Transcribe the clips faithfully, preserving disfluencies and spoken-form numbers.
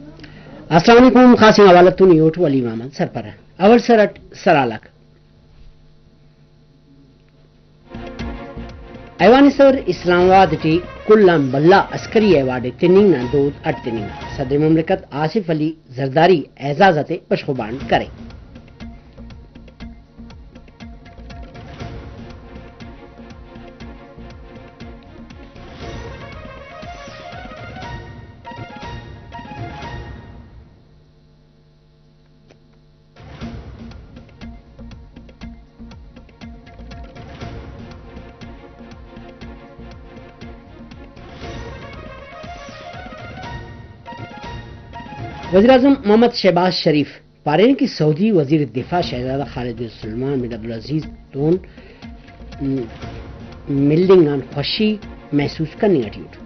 السلام علیکم، خاص حوالہ تون ایوٹ ولی محمد سرپرہ۔ اول سر اٹ سرحال آک۔ ایوان صدر اسلام آباد ٹی کل آن بھلا عسکری ایوارڈ ءِ تننگ نا دود اڈ تننگا۔ صدر مملکت آصف علی زرداری اعزاز آتے بشخ و بانٹ کرے۔ وزیراعظم محمد شہباز شریف پارینہ کہ سعودی وزیر دفاع شہزادہ خالد بن سلمان بن عبدالعزیز تون ملنگ آن خوشی محسوس کننگ اٹی اٹ۔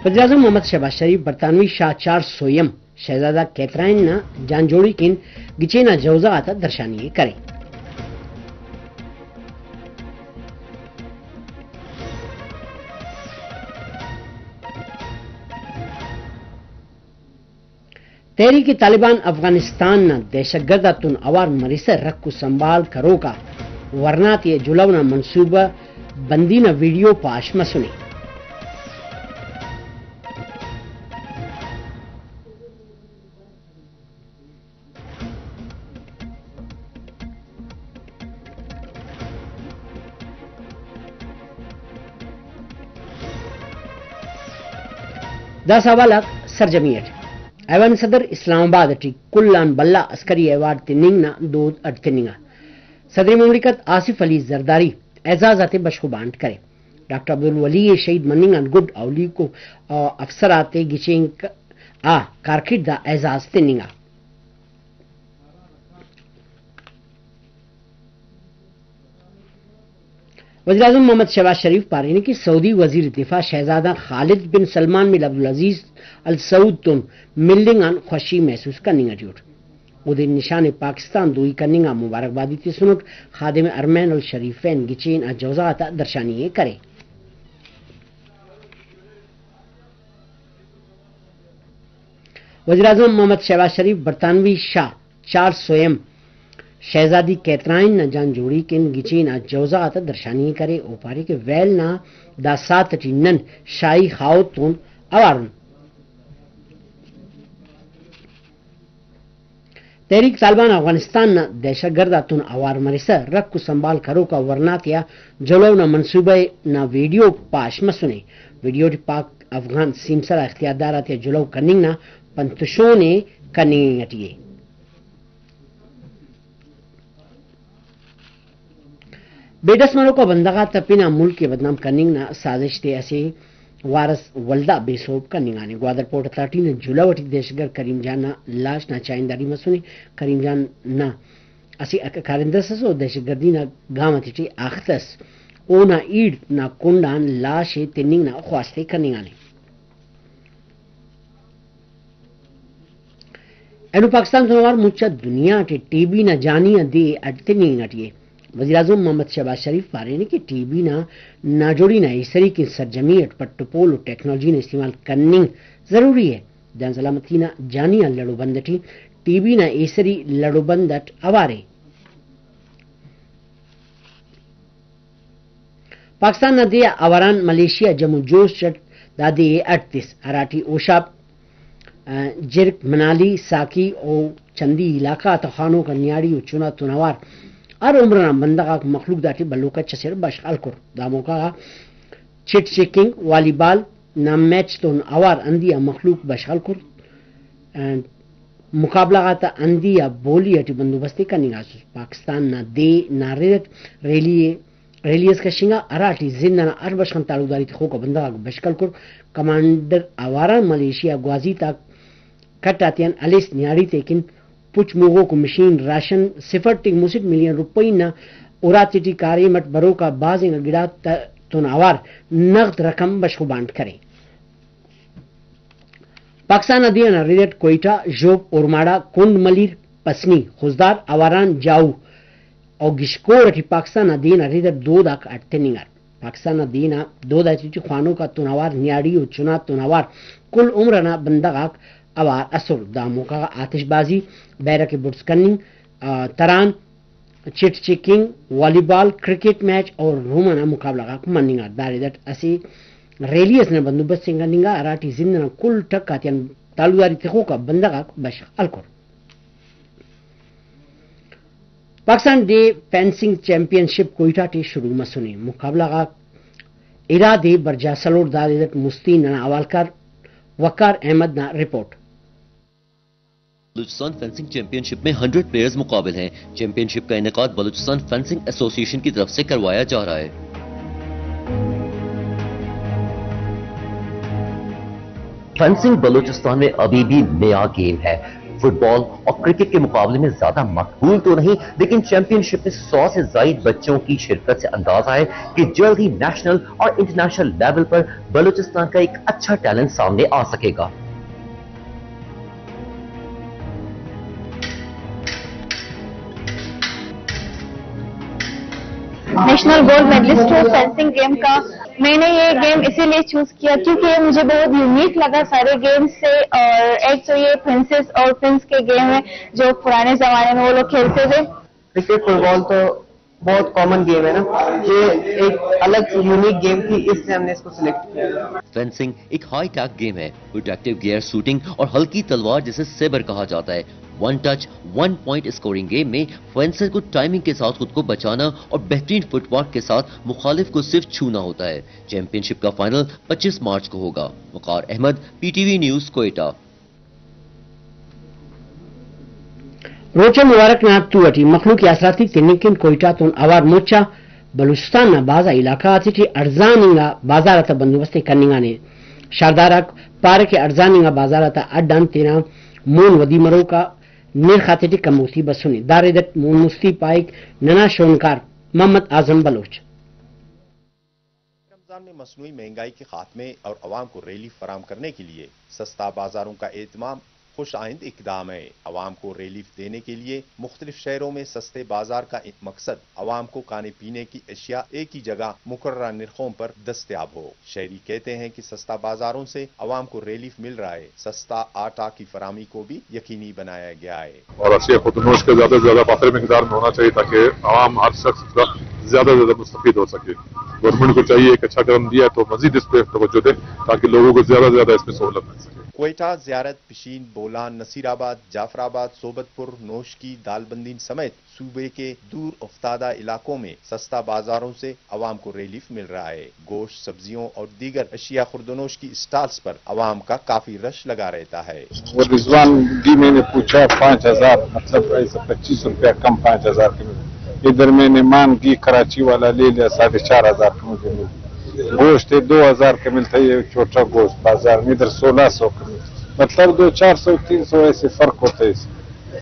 وزیراعظم محمد شہباز شریف برطانوی شاہ چارلس سوئم شہزادہ کیتھرائن نا جان جوڑی کن گچین آ جوزہ غاتا درشانی ءِ کرے۔ تحریک طالبان افغانستان نا دہشت گرد آتون اوار مرسا رکھ و سنبھال کروک آ ورنا تے جلہو نا منصوبہ بندی نا ویڈیو پاش مسنے۔ داسہ حوال آک سرجمی اٹ۔ ایوان صدر اسلام آباد ٹی کل آن بھلا عسکری ایوارڈ تننگ نا دود اڈ تننگا۔ صدر مملکت آصف علی زرداری اعزاز آتے بشخ و بانٹ کرے۔ ڈاکٹر عبدالولی ءِ شہید مننگ آن گڈ اولیکو افسر آتے گچین آ کارکڑد آ اعزاز تننگا۔ وزیراعظم محمد شہباز شریف پارینے کہ سعودی وزیر دفاع شہزادہ خالد بن سلمان بن عبدالعزیز السعود تون ملنگ آن خوشی محسوس کننگ اٹی اٹ۔ اودے نشان پاکستان دوئی کننگ آ مبارکبادی تسنٹ۔ خادم حرمین الشریفین گچین آ جوزہ غاتا درشانی ءِ کرے۔ وزیراعظم محمد شہباز شریف برطانوی شاہ چارلس سوئم شہزادی کیتھرائن نا جان جوڑی کن گچین آ جوزہ غاتا درشانی ءِ کرے۔ او پارے کہ ویل نا دا ساعت اٹی نن شاہی خاہوت تون اوار ان۔ تحریک طالبان افغانستان نا دہشت گرد آتون اوار مرسا رکھ و سنبھال کروک آ ورنا تیا جلہو نا منصوبہ نا ویڈیو پاش مسنے۔ ویڈیو ٹی پاک افغان سیمسر آ اختیاردار آتیا جلہو کننگ نا پن تشون ءِ کننگ اٹی ءِ۔ بے ڈس مروکا بندغ آتا پن آ ملک ءِ بدنام کننگ نا سازش تے اسہ وار اس ولدا بے سہب کننگانے۔ گوادر پورٹ اتھارٹی نا جلہو اٹی دہشت گرد کریم جان نا لاش نا چاہنداری مسنے۔ کریم جان نا اسہ کارندہ اس ئس و دہشت گردی نا گام آتیٹی آختہ ئس۔ اونا ایڑ نا کنڈ آن لاش ءِ تننگ نا خواست ءِ کننگانے۔ اینو پاکستان تون اوار مچ آ دنیا ٹی ٹی بی نا جانی آ دے اڈ تننگ اٹی ءِ۔ وزیراعظم محمد شہباز شریف پارینے کہ ٹی بی نا ناجوڑی نا ایسری کن سرجمی اٹ پٹ و پول و ٹیکنالوجی نا استعمال کننگ ضروری ءِ۔ جان سلامتی نا جانی آ لڑ و بند اٹی ٹی بی نا ایسری لڑ و بند اٹ اوار ءِ۔ پاکستان نا دے آ اواران ملیشیا جم و جوش اٹ دا دے ءِ اڈ تس، ہراٹی ہوشاپ، آ، جرک، منالی، ساکی و چندی علاقہ آتا خوانوک آ نیاڑی و چنا تون اوار ہر عمر نا بندغ آک مخلوق داٹی بھلو کچ اسے بشخ ہلکر۔ دا موقع غا چٹ چکنگ، والی بال نا میچ تون اوار ہندی آ مخلوق بشخ ہلکر۔ آ، مقابلہ غاتا ہندی آ بولی اٹی بندوبست ءِ کننگاسس۔ پاکستان نا دے نا رد اٹ ریلی ءِ، ریلی اس کشنگا، ہراٹی زند انا ہر بشخ آن تعلقداری تخوک آ بندغ آک بشخ ہلکر۔ کمانڈر اواران ملیشیا گوازی تا کٹ آتیان ہلیس نیاڑی تیکن پچ موغوک و مشین راشن سفر ٹی مسٹ ملین روپئی نا اراتے ٹی کاریم اٹ بروک آ بھاز انگا گڑاتا تون اوار نغد رقم بشخ و بانٹ کرے۔ پاکستان نا دے انا رد اٹ کوئٹہ، ژوب، اورماڑہ، کنڈ ملیر، پسنی، خضدار، آواران، جاؤ و گشکور اٹی پاکستان نا دے انا رد اٹ دود آک اڈ تننگار۔ پاکستان نا دے انا دود آتیٹی خوانوک آتون اوار، نیاڑی و چنا تون اوار کل عمر انا بندغ آک اوار ئسر۔ دا موقع غا آتش بازی، بیرہ کہ بڑز کننگ، آ، تران، چٹ چکنگ، والی بال، کرکٹ میچ اور روم انا مقابلہ غاک مننگار۔ دا رد اٹ اسہ ریلی اس نا بندوبست ہم کننگا، ہراٹی زند انا کل ٹک آتیان تعلقداری تخوک آ بندغ آک بشخ ہلکر۔ پاکستان ڈے فینسنگ چیمپئن شپ کوئٹہ ٹی شروع مسنے، مقابلہ غاک ارا دے برجا سلوڑ۔ دا رد اٹ مستی ننا حوالکار وقار احمد نا رپورٹ۔ بلوچستان فینسنگ چیمپئن شپ میں ہنڈریڈ پلیئرز مقابل ہیں۔ چیمپئن شپ کا انعقاد بلوچستان فینسنگ ایسوسی ایشن کی طرف سے کروایا جا رہا ہے۔ فینسنگ بلوچستان میں ابھی بھی نیا گیم ہے۔ فٹ بال اور کرکٹ کے مقابلے میں زیادہ مقبول تو نہیں، لیکن چیمپئن شپ میں سو سے زائد بچوں کی شرکت سے اندازہ ہے کہ جلد ہی نیشنل اور انٹرنیشنل لیول پر بلوچستان کا ایک اچھا ٹیلنٹ سامنے آ سکے گا۔ نیشنل گولڈ میڈلسٹ ہوں فینسنگ گیم کا۔ میں نے یہ گیم اسی لیے چوز کیا کیونکہ یہ مجھے بہت یونیک لگا سارے گیم سے، اور ایک تو یہ پرنسس اور پرنس کے گیم ہے جو پرانے زمانے میں وہ لوگ کھیلتے تھے۔ کرکٹ، فٹ بال تو بہت کامن گیم ہے نا، یہ ایک الگ یونیک گیم تھی، اس لیے ہم نے اس کو سلیکٹ کیا۔ فینسنگ ایک ہائی ٹیک گیم ہے۔ پروٹیکٹیو گیئر، شوٹنگ اور ہلکی تلوار جسے سیبر کہا جاتا ہے۔ One touch, one point scoring game میں فینسر کو ٹائمنگ کے ساتھ خود کو بچانا اور بہترین فٹ ورک کے ساتھ مخالف کو صرف چھونا ہوتا ہے۔ چیمپئن شپ کا فائنل پچیس مارچ کو ہوگا۔ Waqar Ahmad, P T V news, Quetta. روچہ مبارک نا تو اٹی مخلوق ءِ آسراتی تننگ کن کوئٹہ تون اوار مچ آ بلوچستان نا بھاز آ علاقہ غاتیٹی اڑزان انگا بازار آتا بندوبست ءِ کننگانے۔ شاردار آک پارہ کہ اڑزان انگا بازار آتا اڈ آن تینا مون ودی مروک آ نرخ آتیٹی کموتی بسنے۔ دا رد اٹ مون مستی پائک ننا شونکار محمد اعظم بلوچ۔ رمضان میں مصنوعی مہنگائی کے خاتمے اور عوام کو ریلیف فراہم کرنے کے لیے سستا بازاروں کا اہتمام خوش آئند اقدام ہے۔ عوام کو ریلیف دینے کے لیے مختلف شہروں میں سستے بازار کا مقصد عوام کو کھانے پینے کی اشیاء ایک ہی جگہ مقررہ نرخوں پر دستیاب ہو۔ شہری کہتے ہیں کہ سستا بازاروں سے عوام کو ریلیف مل رہا ہے، سستا آٹا کی فراہمی کو بھی یقینی بنایا گیا ہے۔ اور اشیاء خود نوش کا زیادہ سے زیادہ پاتر مقدار میں ہونا چاہیے تاکہ عوام، ہر شخص اس کا زیادہ سے زیادہ مستفید ہو سکے۔ گورنمنٹ کو چاہیے ایک اچھا قدم دیا ہے تو مزید اس پہ توجہ دیں تاکہ لوگوں کو زیادہ سے زیادہ اس میں سہولت مل سکے۔ کوئٹہ، زیارت، پشین، بولان، نصیر آباد، جعفر آباد، صحبت پور، نوشکی، دالبندین سمیت صوبے کے دور افتادہ علاقوں میں سستا بازاروں سے عوام کو ریلیف مل رہا ہے۔ گوشت، سبزیوں اور دیگر اشیاء خوردونوش کی اسٹالز پر عوام کا کافی رش لگا رہتا ہے۔ وہ رضوان گھی میں نے پوچھا پانچ ہزار، مطلب ایسا پچیس روپیہ کم پانچ ہزار کے ملے۔ ادھر میں نے مان گھی کراچی والا لے لیا ساڑھے چار ہزار کے مجھے ملے۔ گوشت ہے دو ہزار کے ملتا ہے، یہ چھوٹا گوشت بازار میں ادھر سولہ سو کے ملتا ہے۔ مطلب دو چار سو، تین سو ایسے فرق ہوتا ہے اس میں۔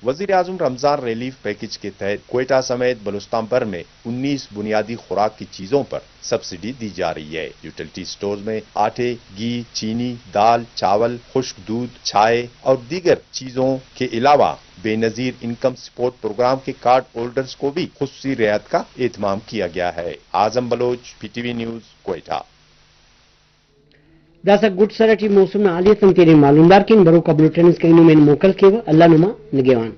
وزیر اعظم رمضان ریلیف پیکج کے تحت کوئٹہ سمیت بلوچستان بھر میں انیس بنیادی خوراک کی چیزوں پر سبسڈی دی جا رہی ہے۔ یوٹیلیٹی سٹورز میں آٹے، گھی، چینی، دال، چاول، خشک دودھ، چائے اور دیگر چیزوں کے علاوہ Benazir income support program کے کارڈ ہولڈرز کو بھی خصوصی رعایت کا اہتمام کیا گیا ہے۔ Azam Baloch, P T V news, Quetta. داسہ گڈ سر اٹی موسم نا حالیت آن تینے معلومدار کین، بروک آ بلوٹن اسکان نمے موکل کیوہ۔ اللہ نما نگہوان۔